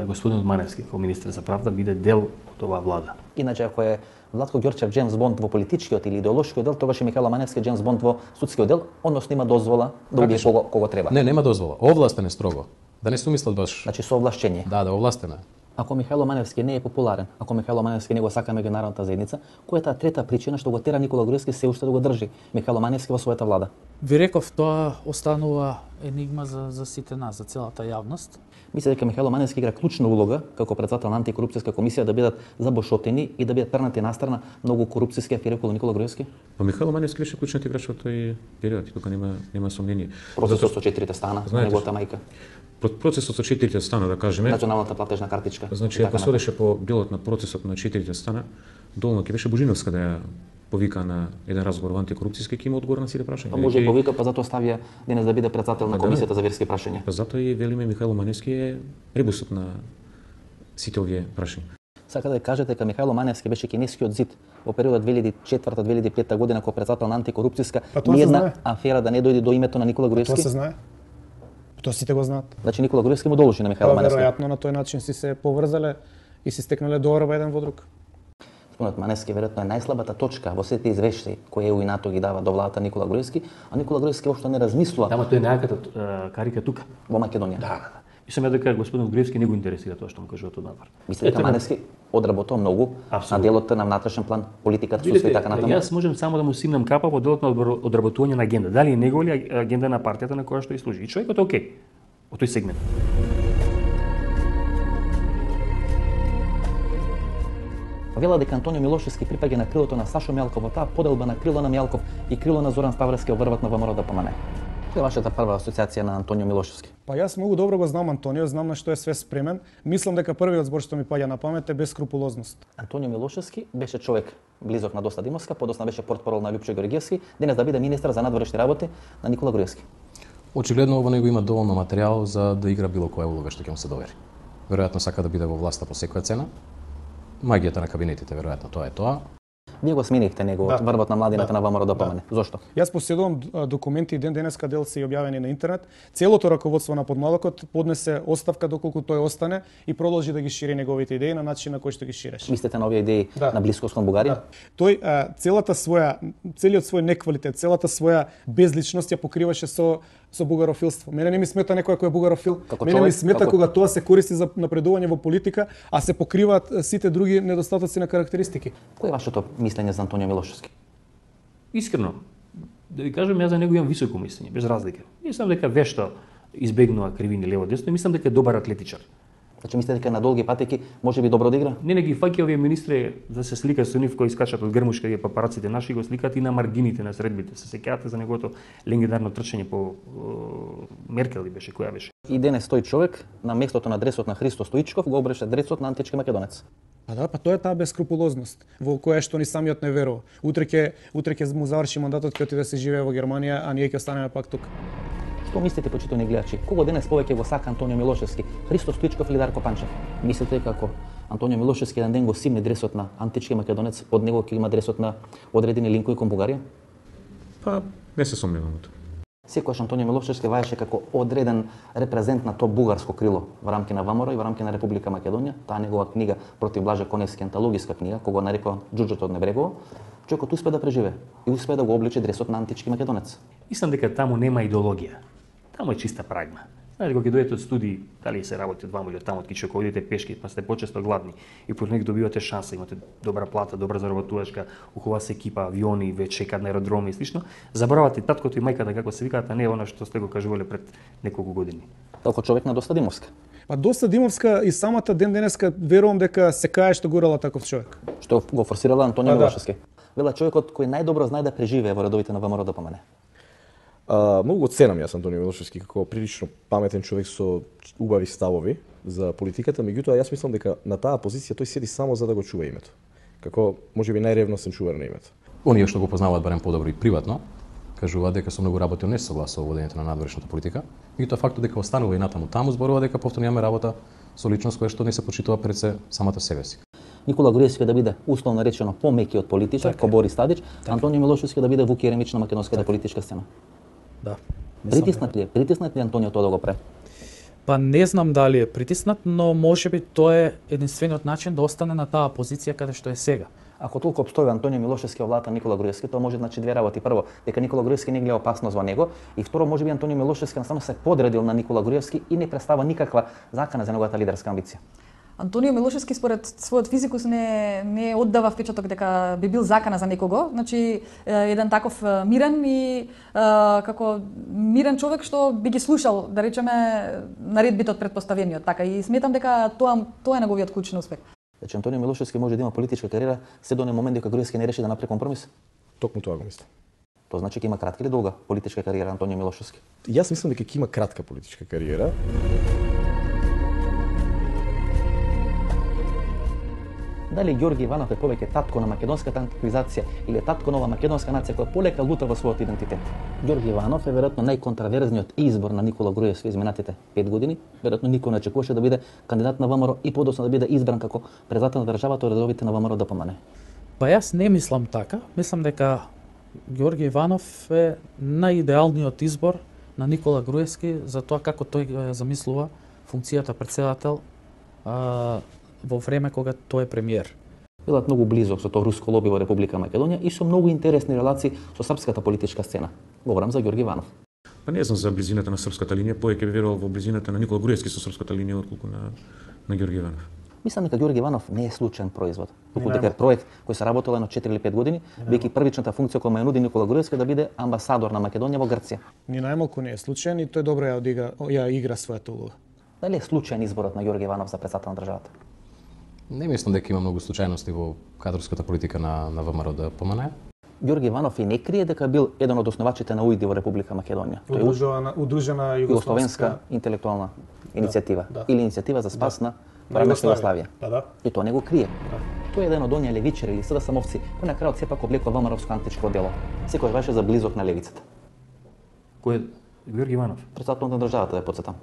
господинот Маневски како министер за правда биде дел од оваа влада. Иначе ако е Владко Ѓорчев Джеймс Бонд во политичкиот или идеолошкиот дел, тогаш е Михаил Маневски Джеймс Бонд во судскиот дел, односно има дозвола да убие кого треба. Не, нема дозвола. Овластен е строго. Да не се умислат баш. Значи со овлашчење. Да, овластен е. Ако Михаил Маневски не е популарен, ако Михаил Маневски не го сака меѓународната заедница, која е таа трета причина што го тера Никола Груевски се уште да го држи Михаил Маневски во својата влада? Ви реков, тоа останува енигма за сите нас, за целата јавност. Мисля дека Михаил Маневски игра клучна улога како председател на антикорупцијска комисија да бидат забошотени и да бидат пернати настрана многу корупцијски афери околу Никола Груевски. Па Михаил Маневски беше клучниот играч во тој период и тука нема сомнение. Процесот со 4 стана на неговата мајка. Процесот со 4 стана, да кажеме. Националната платежна картичка. Значи, ако се одеше по делот на процесот на 4 стана, долно ќе беше Божиновска да ја повика на еден разговор во антикорупцијски, ќе има одговор на сите прашања. Па може и повика, па затоа ставија денес да биде председател на комисијата за верски прашања. Па затоа и велиме Михаил Маневски е ребусот на сите овие прашања. Сака да кажете дека Михаил Маневски беше кинескиот зид во периодот 2004-2005 година како председател на антикорупцијска, ниедна афера да не дојде до името на Никола Груевски. Тоа се знае. Тоа сите го знаат. Значи Никола Груевски му должи на Михаил Маневски. Веројатно на тој начин си се поврзале и си стекнале доверба еден во друг. Спомнат Маневски веројатно е најслабата точка во сите извештаи кои ЕУ и НАТО ги дава до владата Никола Груевски, а Никола Груевски воопшто не размислува. Тама тој е најаката карика тука во Македонија. Да. Мислам ја дека господинот Груевски не го интересира тоа што му кажуваат однапор. Мислите дека Маневски одработува многу на делот на внатрешен план, политиката, судство и така натаму? Јас можам само да му симнам капа во делот на одработување на агенда. Дали е негова или агенда на партијата на која што и служи. И човекот е окей во тој сегмент. Вела дека Антонио Милошевски припаѓа на крилото на Сашо Мјалков, во таа поделба на крило на Мјалков и крило на Зоран Ставровски обврват на ВМРО-ДПМН. Која е вашата прва асоциација на Антонио Милошевски? Па јас многу добро го знам Антонио, знам на што е све спремен. Мислам дека првиот збор што ми паѓа на памет е бескрупулозност. Антонио Милошевски беше човек близок на Доста Димовска, подосна беше портпарол на Лјупчо Георгиевски, денес да биде министер за надворешни работи на Никола Груевски. Очигледно во него има доволно материјал за да игра било која улога што ќе му се довери. Веројатно сака да биде во власта по секоја цена. Магијата на кабинетите, веројатно тоа е тоа. Вие го сменихте него од врвот на младината на ВМРО-ДПМН. Зошто? Јас поседувам документи и денеска дел се објавени на интернет. Целото раководство на Подмладокот поднесе оставка доколку тој остане и продолжи да ги шири неговите идеи на начин на кој што ги ширеше. Мислите на овие идеи на блискост кон Бугарија? Тој целиот свој неквалитет, целата своја безличност ја покриваше со бугарофилство. Мене не ми смета некој кој е бугарофил. Мене ми смета кога тоа се користи за напредување во политика, а се покриваат сите други недостатоци на карактеристики. Кој е вашето мислење за Антонио Милошевски? Искрено, да ви кажам, јас за него имам високо мислење, без разлика. Мислам дека вешто избегнува кривини лево десно и мислам дека е добар атлетичар. Значи мислите дека на долги патеки може би добро да игра? Не ги фаќа овие министри да се слика со нив кои скачат од грмушка и папараците наши го сликаат и на маргините на средбите. Се сеќавате за неговото легендарно трчање по Меркел беше, која беше. И денес тој човек на местото на дресот на Христо Стоичков го обреше дресот на антички македонец. Па да, па тоа е таа бескрупулозност во која што ни самиот не верува. Утре ќе му заврши мандатот, ќе отиде да се живее во Германија, а ние ќе останеме пак тука. Што мислите, почитувани гледачи? Кого денес повеќе го сака Антонио Милошевски? Христо Стоичков или Дарко Панчев? Мислите како Антонио Милошевски еден ден го симне дресот на антички македонец, под него ќе има дресот на одредени линкови кон Бугарија? Па, не се сомневам во тоа. Секогаш Антонио Милошевски ваеше како одреден репрезент на тоа бугарско крило во рамки на ВМРО и во рамки на Република Македонија. Таа негова книга против Блаже Коневски, антологиска книга, кога нарекува Џуџото од Небрегово, човекот успе да преживее и успе да го облече дресот на антички македонец. Мислам дека таму нема идеологија. Таму е чиста прагма. Знаете, кога ќе дојдете од студии, дали се работи од ваму или од таму, од кичо, кога идете пешки, па сте почесто гладни и по него добивате шанса, имате добра плата, добра заработувачка, ухова се екипа, авиони, веќе чекаат на аеродроми и слично, заборавате таткото и мајката како се викаат, а не она што сте го кажувале пред неколку години. Толку човек на Доста Димовска. Па Доста Димовска и самата ден денеска верувам дека се кае што гурала таков човек. Што го форсирала Антонио Милошевски. Вела човекот кој најдобро знае да преживее во редовите на ВМРО ДПМН. Многу го ценам јас Антонио Милошевски како прилично паметен човек со убави ставови за политиката, меѓутоа јас мислам дека на таа позиција тој седи само за да го чува името. Како можеби најревносен чувар на името. Оние што го познаваат барем подобро и приватно, кажуваат дека со многу работи не согласува во водењето на надворешната политика, меѓутоа фактот дека останува и натаму таму зборува дека повторно имаме работа со личност која што не се почитува пред се самата себе си. Никола Груевски да биде условно речено помеки од политичар, ко Борис Тадич, Антонио Милошевски да биде Вук Јеремич на македонската политичка сцена. Да. Притиснат ли Антонио тоа да го прави? Па не знам дали е притиснат, но можеби тоа е единствениот начин да остане на таа позиција каде што е сега. Ако толку обстои Антонио Милошевски во владата на Никола Груевски, тоа може значи две работи. Прво, дека Никола Груевски не гледа опасност во него, и второ, можеби Антонио Милошевски насаму се подредил на Никола Груевски и не представа никаква закана за неговата лидерска амбиција. Антонио Милошевски според својот физикус не оддава впечаток дека би бил закана за некого. Значи еден таков мирен и како мирен човек што би ги слушал, да речеме, наредбите од претпоставениот, така и сметам дека тоа е неговиот клучен успех. Значи Антонио Милошевски може да има политичка кариера се до момент дека Груевски не реши да направи компромис. Токму тоа го мислам. Тоа значи дека има кратка или долга политичка кариера Антонио Милошевски? Јас мислам дека ќе има кратка политичка кариера. Дали Ѓорги Иванов е повеќе татко на македонската антиквизација или е татко нова македонска нација која полека лута во својот идентитет? Ѓорги Иванов е веројатно најконтраверзниот избор на Никола Груевски изминатите 5 години. Веројатно никој не очекуваше да биде кандидат на ВМРО и подоцна да биде избран како председател на државата од редовите на ВМРО ДПМН. Па јас не мислам така. Мислам дека Ѓорги Иванов е најидеалниот избор на Никола Груевски за тоа како тој замислува функцијата председател во време кога тој е премиер. Билат многу близок со тоа руско лоби во Република Македонија и со многу интересни релации со српската политичка сцена. Говорам за Ѓорги Иванов. Па не знам за близината на српската линија, повеќе би верувал во близината на Никола Груевски со српската линија отколку на Ѓорги Иванов. Мислам дека Ѓорги Иванов не е случаен производ. Туку дека е проект кој се работел едно 4 или 5 години, бидејќи првичната функција која ја нуди Никола Груевски да биде амбасадор на Македонија во Грција. Ни најмалку не е случаен и тој добро ја игра својата улога. Дали е случаен изборот на Ѓорги Иванов за председател на државата? Не мислам дека има многу случајности во кадрската политика на ВМРО ДПМН. Ѓорги Иванов и не крие дека бил еден од основачите на УИД во Република Македонија. Удружена Југословенска интелектуална иницијатива или иницијатива за спас на прамешна Југославија. И тоа не го крие. Тој е еден од оние левичари или СДСМовци кој на крајот сепак облекува ВМРО-вско античко дело. Секој беше за близок на левицата. Кој е Ѓорги Иванов? Председател на државата, да потсетам.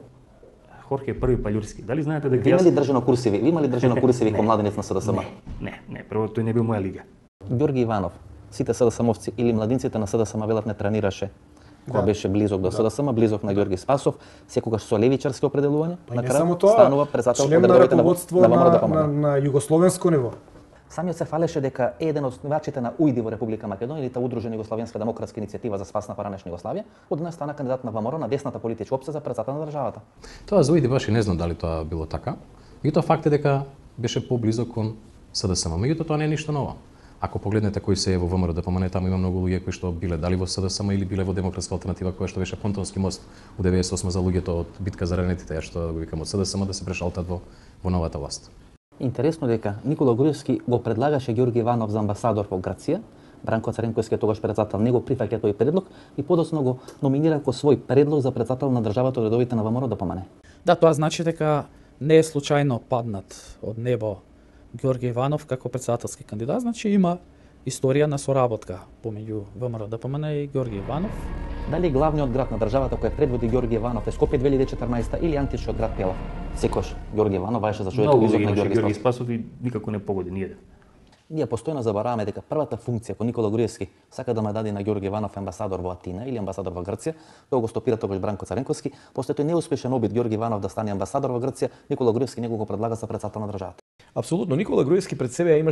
Хорхе Први Паљурски. Дали знаете дека Ви имали држано курсиви? Ви имали држано курсиви како младенец на СДСМ? Не, прво тој не бил моја лига. Ѓорги Иванов, сите СДСМовци или младинците на СДСМ велат не тренираше кога беше близок до СДСМ, близок на Ѓорги Спасов, секогаш со левичарски определувања, на крај станува председател член на раководство на југословенско ниво. Самиот се фалеше дека е еден од основачите на УИД во Република Македонија или та удружена Југословенска демократска иницијатива за спас на паранешна Југославија, однес стана кандидат на ВМРО на десната политичка опција за председател на државата. Тоа за УИД баш и не знам дали тоа било така. И тоа факт е дека беше поблизок кон СДСМ. Меѓутоа тоа не е ништо ново. Ако погледнете кои се е во ВМРО ДПМН, таму има многу луѓе кои што биле дали во СДСМ или биле во Демократска алтернатива, која што беше Понтонски мост у 98 за луѓето од битка за ранетите, ја што го викам од СДСМ да се прешалтат во новата власт. Интересно дека Никола Груевски го предлагаше Ѓорги Иванов за амбасадор во Грција. Бранко Царенковски тогаш председател не го прифаќа тој предлог и подоцна го номинира како свој предлог за председател на државата од редовите на ВМРО ДПМН. Да, тоа значи дека не е случајно паднат од небо Ѓорги Иванов како председателски кандидат, значи има историја на соработка помеѓу ВМРО ДПМН и Ѓорги Иванов. Дали главниот град на државата кој предводи Ѓорги Иванов е Скопје 2014 или античниот град Пела? Секојаш Ѓорги Иванов беше за човек близок на Ѓорги Спасов и никако не погоди ниеден. Ние постојано забораваме дека првата функција кој Никола Груевски сака да ме даде на Ѓорги Иванов амбасадор во Атина или амбасадор во Грција, тоа го стопира тогаш Бранко Царенковски, после тој неуспешен обид Ѓорги Иванов да стане амбасадор во Грција, Никола Груевски него го предлага за председател на државата. Апсолутно, Никола Груевски пред себе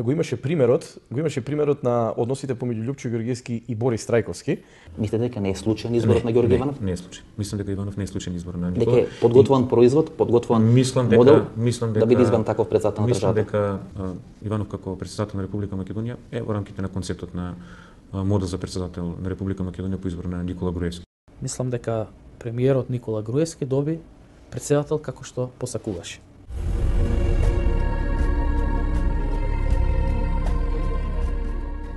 го имаше примерот на односите помеѓу Лјупчо Ѓорѓевски и Борис Трајковски. Мислите дека не е случаен изборот на Ѓорѓе Иванов? Не е случаен. Мислам дека Иванов не е случаен избор на Никола. Дека е подготвуван производ, подготвуван модел да биде избран таков претседател на државата. Мислам дека Иванов како претседател на Република Македонија е во рамките на концептот на модел за претседател на Република Македонија по избор на Никола Груевски. Мислам дека премиерот Никола Груевски доби претседател како што посакуваше.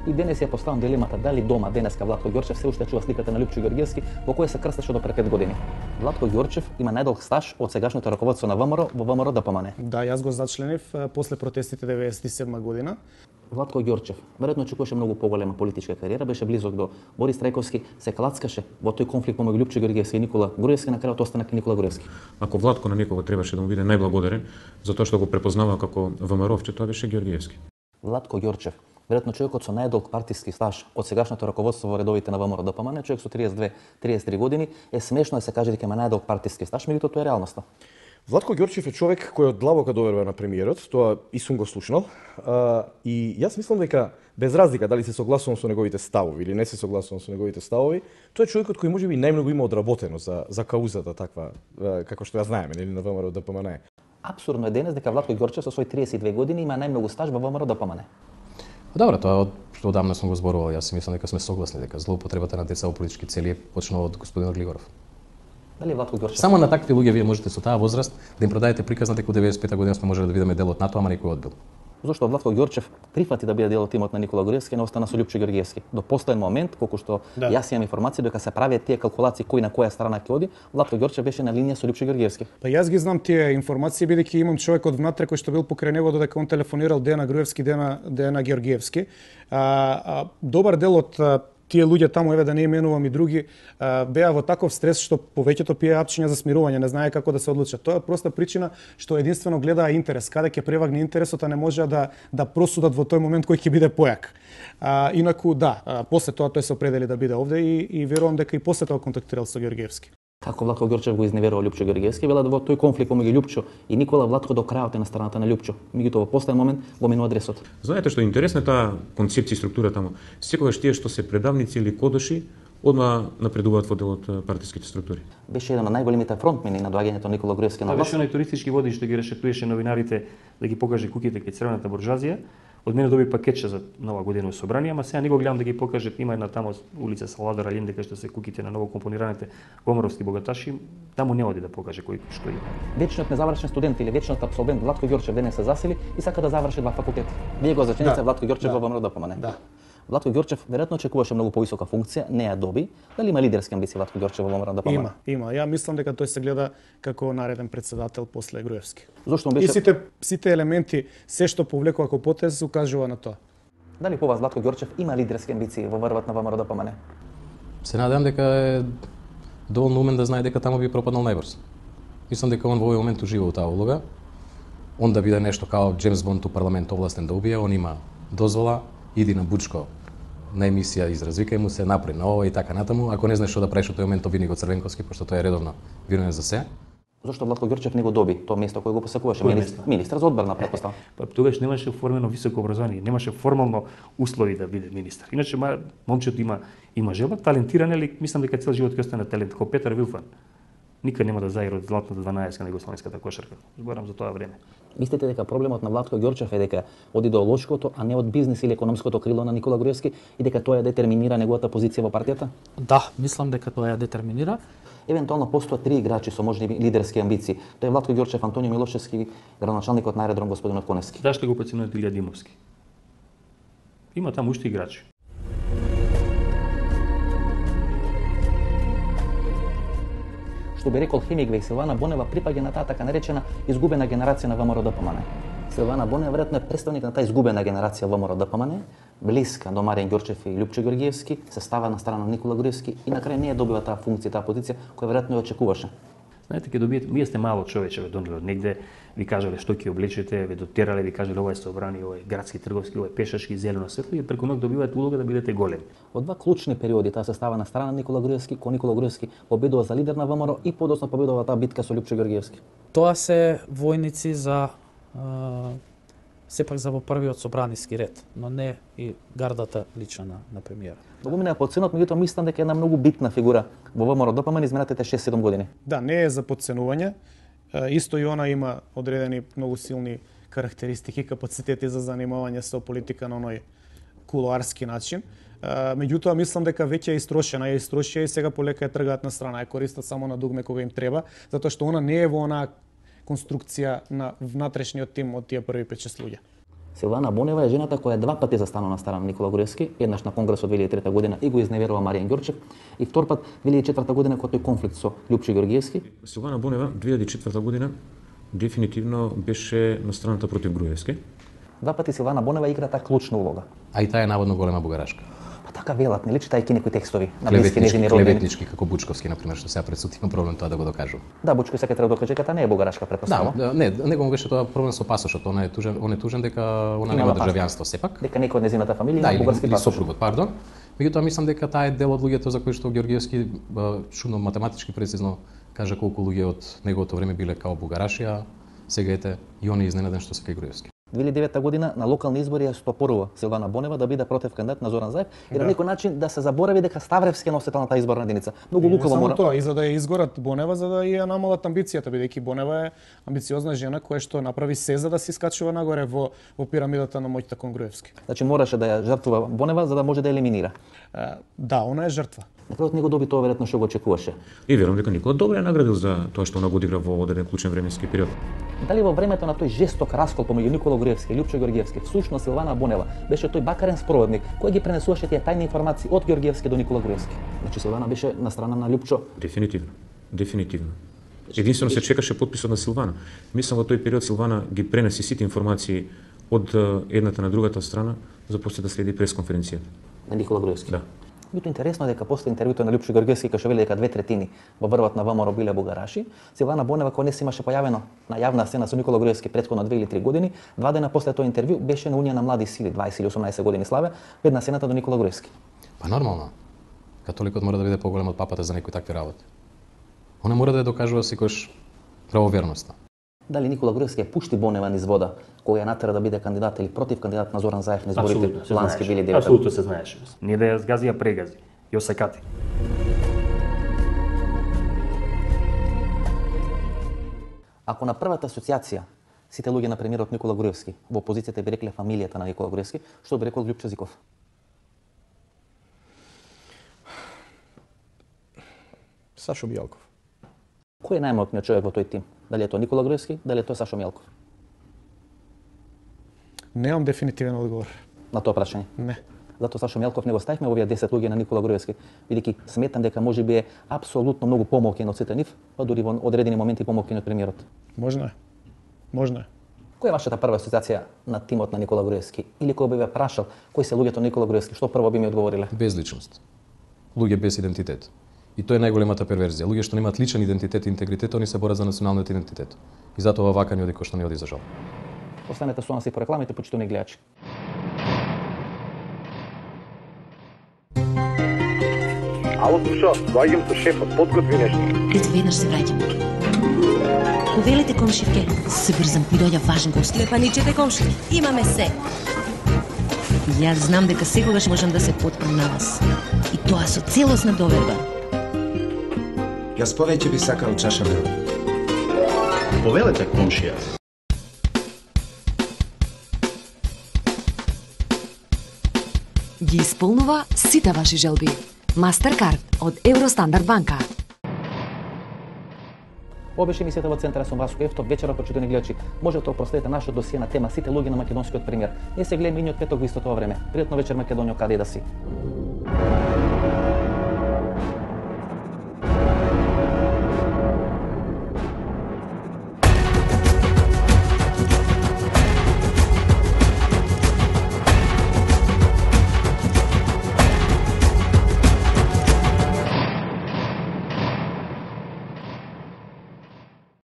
И денес ја поставам дилемата дали дома денеска Владко Ѓорчев се уште чува сликата на Лјупчо Ѓорѓевски во која се крстеше до пред 5 години. Владко Ѓорчев има најдолг стаж од сегашното раководство на ВМРО во ВМРО ДПМН. Да, јас го зачленив после протестите 97 година. Владко Ѓорчев веројатно очекуваше многу поголема политичка кариера, беше близок до Борис Трајковски, се клацкаше во тој конфликт помеѓу Лјупчо Ѓорѓевски и Никола Груевски, на крајот остана Никола Груевски. Ако Владко на некого требаше да му биде најблагодарен за тоа што го препознава како ВМРО-вче, тоа беше Ѓорѓевски. Владко Ѓорчев, веројатно човекот со најдолг партиски стаж од сегашното раководство во редовите на ВМРО ДПМН, човек со 32-33 години, е смешно да се каже дека има најдолг партиски стаж, меѓутоа тоа е реалноста. Владко Ѓорчев е човек кој од длабока доверува на премиерот, тоа и сум го слушнал, и јас мислам дека без разлика дали се согласувам со неговите ставови или не се согласувам со неговите ставови, тоа е човекот кој можеби најмногу има одработено за каузата таква како што ја знаеме, нели, на ВМРО ДПМН. Апсурдно е денес дека Владко Ѓорчев со свој 32 години има најмногу стаж во ВМРО ДПМН. Добро, тоа што одамна сум го зборувал, јас мислам дека сме согласни дека злоупотребата на деца во политички цели почнува од господинот Глигоров. Дали Владко Ѓорчев? Само на такви луѓе вие можете со таа возраст да им продадете приказна дека во 95 година сме можеле да видиме дел од НАТО, ама некој одбил. Зошто Владко Ѓорчев прифати да биде дел од тимот на Никола Груевски, не остана со Лјупчо Ѓорѓевски. До последен момент, колку што јас имам информации дека се правеа тие калкулации кој на која страна ќе оди, Владко Ѓорчев беше на линија со Лјупчо Ѓорѓевски. Па јас ги знам тие информации бидејќи имам човек од внатре кој што бил покрај него додека он телефонирал Дејана Груевски, Дејана Ѓорѓевски. Добар дел од тие луѓе таму, еве да не именувам и други, беа во таков стрес што повеќето пие апчиња за смирување, не знае како да се одлучат. Тоа е проста причина што единствено гледаа интерес, каде ќе превагне интересот, а не можеа да просудат во тој момент кој ќе биде појак. Инаку да, после тоа тој се определи да биде овде и верувам дека и после тоа контактирал со Ѓорѓевски. Како Владко Ѓорчев го изневерува Лјупчо Ѓорѓевски, велат во тој конфликт помеѓу Лјупчо и Никола, Владко до крајот е на страната на Лјупчо. Меѓутоа во последен момент го минува адресот. Знаете што е интересна таа концепција и структура таму. Секогаш тие што се предавници или кодоши одма напредуваат во дел од партиските структури. Беше еден од најголемите фронтмени на доаѓањето на Никола Груевски на власт. Беше оној туристички водич што ги решетуеше новинарите да ги покаже куќите кај црвената буржуазија. Од мене доби пакетче за нова година во собрание, ама сега не го гледам да ги покаже. Има една таму улица Салвадор Алинде кај што се куќите на ново компонираните гоморовски богаташи, таму не оди да покаже кој што има. Вечниот незавршен студент или вечниот абсолвент Владко Ѓорчев денес се засили и сака да заврши два факултета. Вие го зачините Владко Ѓорчев во ВМРО ДПМН. Да. Владко Ѓорчев веројатно очекуваше многу повисока функција, не ја доби. Дали има лидерски амбиции Владко Ѓорчев во ВМРО ДПМН? Има. Ја мислам дека тој се гледа како нареден претседател после Груевски. Зошто беше? И сите елементи, се што повлекува како потез, укажува на тоа. Дали по вас Владко Ѓорчев има лидерски амбиции во врвот на ВМРО ДПМН? Се надевам дека е доволно умен да знае дека таму би пропаднал најбрз. Мислам дека он во овој момент ужива во таа улога. Он да биде нешто као Джеймс Бонд у парламент овластен да убие, он има дозвола, иди на Бучко на емисија, изразвикај му се, напри на ова и така натаму. Ако не знаеш што да правиш во тој момент, обвини го Црвенковски, пошто тој е редовно винуван за се. Зошто Владко Ѓорчев не го доби тоа место кое го посакуваше? Министар за одбрана, претпоставам. Па тогаш немаше оформено високо образование, немаше формално услови да биде министар. Иначе момчето има желба, талентиран, али мислам дека цел живот ќе остане талент, како Петар Вилфан. Никад нема да заигра од златната 12 на југословенската кошарка. Зборам за тоа време. Мислите дека проблемот на Владко Ѓорчев е дека од идеолошкото, а не од бизнес или економското крило на Никола Груевски и дека тоа ја детерминира неговата позиција во партијата? Да, мислам дека тоа ја детерминира. Евентуално постојат три играчи со можеби лидерски амбиции. Тоа е Владко Ѓорчев, Антонио Милошевски, градоначалникот на аеродром господинот Коневски. Зашто го подценувате Илија Димовски? Има таму уште играчи. Што би рекол Хемингвеј, Силвана Бонева припаѓа на таа така наречена изгубена генерација на ВМРО ДПМН. Силвана Бонева веројатно е представник на таа изгубена генерација во ВМРО ДПМН, блиска до Маријан Ѓорчев и Лјупчо Ѓорѓевски, се става на страна на Никола Груевски и на крај не ја добива таа функција, таа позиција која веројатно ја очекуваше. Знаете, ќе добиете, вие сте мало човече, ве донеле од негде, ви кажале што ќе облечете, ве дотерале, ви кажале ова е собрани, ова е градски, трговски, ова е пешачки, зелено светло и преку ноќ добивате улога да бидете големи. Во два клучни периоди таа се става на страна на Никола Груевски, кога Никола Груевски победува за лидер на ВМРО и подоцна победува таа битка со Лјупчо Ѓорѓевски. Тоа се војници за сепак за во првиот собраниски ред, но не и гардата лична на премиерот. Многу минаа подценот, меѓутоа мислам дека е една многу битна фигура во ВМРО-ДПМН изминатите 6-7 години. Да, не е за подценување. Исто и она има одредени многу силни карактеристики, капацитети за занимавање со политика на оној кулоарски начин. Меѓутоа, мислам дека веќе е истрошена, и сега полека е тргаат на страна, е користат само на дугме кога им треба, затоа што она не е во онаа конструкција на внатрешниот тим од тие први 5-6 луѓе. Силвана Бонева е жената која два пати застанува на страна на Никола Груевски, еднаш на конгресот 2003 година и го изневерува Маријан Ѓорчев, и втор пат 2004 година кога тој конфликт со Љупчо Ѓоргиевски. Силвана Бонева 2004 година дефинитивно беше на страната против Груевски. Два пати Силвана Бонева игра таа клучна улога. А и таа е наводно голема бугарашка. Па така велат, не читајќи некои текстови на блиски нејзини родини. Клеветнички, како Бучковски, например, што сега пред суд има проблем тоа да го докажува. Да, Бучковски сега треба да докаже дека таа не е бугарашка, претпоставувам. Да, не, него му беше тоа проблем со пасошот, он е тужен дека она нема државјанство сепак. Дека некој од незината фамилија има бугарски пасош. Да, сопругот, пардон. Меѓутоа мислам дека таа е дел од луѓето за кои што Ѓоргиевски чудно математички прецизно кажа колку луѓе од неговото време биле као бугараши, сега ете и он е изненаден што се кај Груевски. 2009 година на локални избори ја стопорува Силвана Бонева да биде против кандидат на Зоран Заев и на некој начин да се заборави дека Ставревски е носител на таа изборна единица. Многу лукаво мора. Тоа и за да ја изгорат Бонева, за да ја намалат амбицијата, бидејќи Бонева е амбициозна жена која што направи се за да се искачува нагоре во пирамидата на моќта кон Груевски. Значи мораше да ја жртвува Бонева за да може да ја елиминира. Да, она е жртва. На крајот него доби тоа веројатно што го очекуваше. И верувам дека Никола добро ја наградил за тоа што она го одигра во одреден клучен временски период. Дали во времето на тој жесток раскол помеѓу Никола Груевски и Љупчо Ѓоргиевски, всушност Силвана Бонева беше тој бакарен спроводник кој ги пренесуваше тие тајни информации од Ѓоргиевски до Никола Груевски. Значи Силвана беше на страна на Љупчо. Дефинитивно. Единствено се чекаше подписот на Силвана. Мислам во тој период Силвана ги пренеси сите информации од едната на другата страна за после да следи пресконференцијата. На Никола Груевски. Да. Бито интересно е дека после интервјуто на Љупчо Ѓоргиевски кај што вели дека 2/3 во врвот на ВМРО биле бугараши, Силвана Бонева која не се имаше појавено на јавна сцена со Никола Груевски претходно 2 или 3 години, 2 дена после тоа интервју беше на Унија на млади сили, 20 или 18 години славе, пред на сцената до Никола Груевски. Па нормално. Католикот мора да биде поголем од папата за некои такви работи. Она мора да ја докажува секојаш правоверноста. Дали Никола Груевски ја пушти Бонева низ вода која ја натера да биде кандидат или против кандидат на Зоран Заев на изборите лански 2009? Апсолутно се знаеше. Не да ја згази, ја прегази. Ја осакати. Ако на првата асоциација сите луѓе на премиерот Никола Груевски во опозицијата би рекле фамилијата на Никола Груевски, што би рекол Љупчо Зиков? Сашо Мијалков. Кој е најмоćниот човек во тој тим? Дали е тоа Никола Груевски, дали е тоа Сашо Мијалков? Немам дефинитивен одговор. На тоа прашање? Не. Затоа Сашо Мијалков не го ставивме овие 10 луѓе на Никола Груевски, бидејќи сметам дека можеби е апсолутно многу помалку од сите нив, па дури во одредени моменти помалку од премиерот. Можно е. Која е вашата прва асоциација на тимот на Никола Груевски? Или кој би ве прашал кои се луѓето на Никола Груевски, што прво би ми одговориле? Без личност. Луѓе без идентитет. И тоа е најголемата перверзија. Луѓе што немаат личен идентитет и интегритет, они се борат за националниот идентитет. И затоа вака ни оди кој што не оди за жал. Останете со нас и по рекламите, почитувани гледачи. Ало, слушо, доаѓам со шефот, подготви нешто. Ето веднаш се враќам. Повелете комшивке, се брзам, ми доаѓа важен гост. Лепаничете комши, имаме се. Јас знам дека секогаш можам да се потпрем на вас. И тоа со целосна доверба. Јас повеќе би сакал чаша мел. Повелете комшија. Ги исполнува сите ваши желби. Мастеркард од Евростандард банка. Ова беше емисијата во Центар, сум Васко Ефтов. Вечера, почитувани гледачи, можете да проследите нашето досие на тема сите луѓе на македонскиот премиер. Ние се гледаме идниот петок во истото време. Пријатно вечер, Македонија, каде и да си.